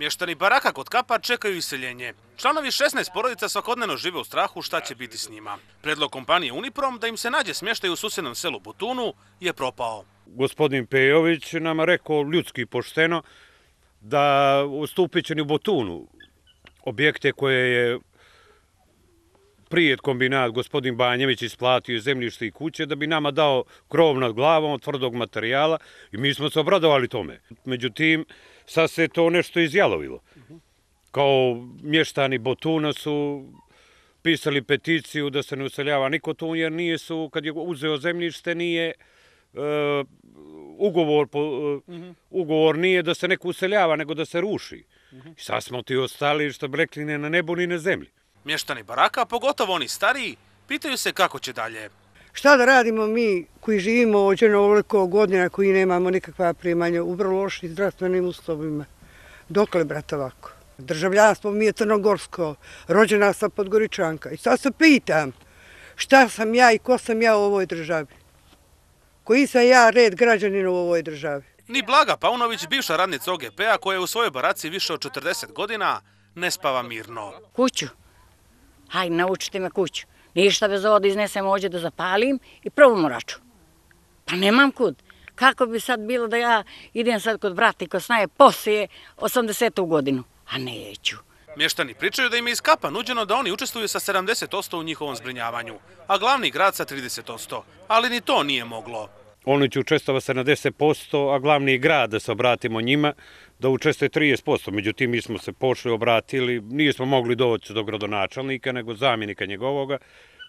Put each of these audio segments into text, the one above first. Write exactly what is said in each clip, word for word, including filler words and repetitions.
Mještani baraka kod Kapa čekaju iseljenje. Članovi šesnaest porodica svakodnevno žive u strahu šta će biti s njima. Predlog kompanije Uniprom da im se nađe smještaj u susjednom selu Butunu je propao. Gospodin Pejović nama rekao ljudski pošteno da ustupit će ni u Butunu objekte koje je prije kombinat gospodin Banjević isplatio iz zemljište i kuće da bi nama dao krov nad glavom od tvrdog materijala i mi smo se obradovali tome. Međutim, sad se to nešto izjalovilo. Kao mještani Butuna su pisali peticiju da se ne useljava niko tu, jer nije su, kad je uzeo zemljište, nije uh, ugovor, uh, ugovor nije da se neko useljava, nego da se ruši. I sad smo ti ostali, što bi rekli, ne na nebu ni na zemlji. Mještani baraka, pogotovo oni stariji, pitaju se kako će dalje. Šta da radimo mi koji živimo ovdje na ovoliko godina, koji nemamo nikakva primanja u vrlo lošim zdravstvenim uslovima? Dokle, brat, ovako? Državljanstvo mi je crnogorsko, rođena sam Podgoričanka. I sad se pitam šta sam ja i ko sam ja u ovoj državi? Koji sam ja red građanina u ovoj državi? Ni Blaga Paunović, bivša radnica O G P-a koja je u svojoj baraci više od četrdeset godina, ne spava mirno. Kuću. Hajde, naučite me kuću. Ništa bez ovo da iznesem ovdje da zapalim i probamo raču. Pa nemam kud. Kako bi sad bilo da ja idem sad kod brata i kod snaje poslije osamdesetu godinu? A neću. Mještani pričaju da im je iz Kapa nuđeno da oni učestvuju sa sedamdeset posto u njihovom zbrinjavanju, a glavni grad sa trideset posto. Ali ni to nije moglo. Oni će učestvovati sedamdeset posto, a glavni grad, da se obratimo njima, da učestvuje trideset posto. Međutim, mi smo se pošli obratili, nismo mogli doći do gradonačelnika, nego zamjenika njegovoga,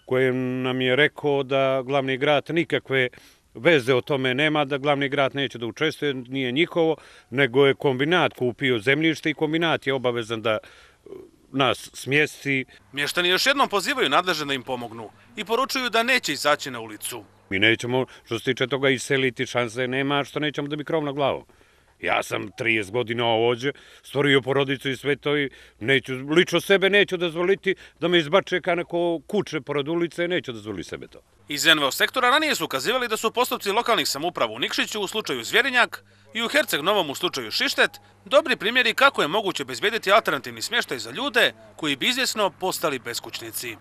koji nam je rekao da glavni grad nikakve veze o tome nema, da glavni grad neće da učestvuje, nije njihovo, nego je kombinat kupio zemljište i kombinat je obavezan da nas smjesti. Mještani još jednom pozivaju nadležne da im pomognu i poručuju da neće izaći na ulicu. Mi nećemo, što se tiče toga, iseliti, šanse nema, što nećemo da bi krov na glavu. Ja sam trideset godina ovdje, stvorio porodicu i sve to i neću, lično sebe neću dozvoliti da me izbače kao neko kuće pored ulice, neću dozvoliti sebe to. Iz N V O sektora ranije su ukazivali da su postupci lokalnih samouprava u Nikšiću u slučaju Zvjerinjak i u Herceg Novom u slučaju Šištet dobri primjeri kako je moguće obezbediti alternativni smještaj za ljude koji bi izvjesno postali beskućnici.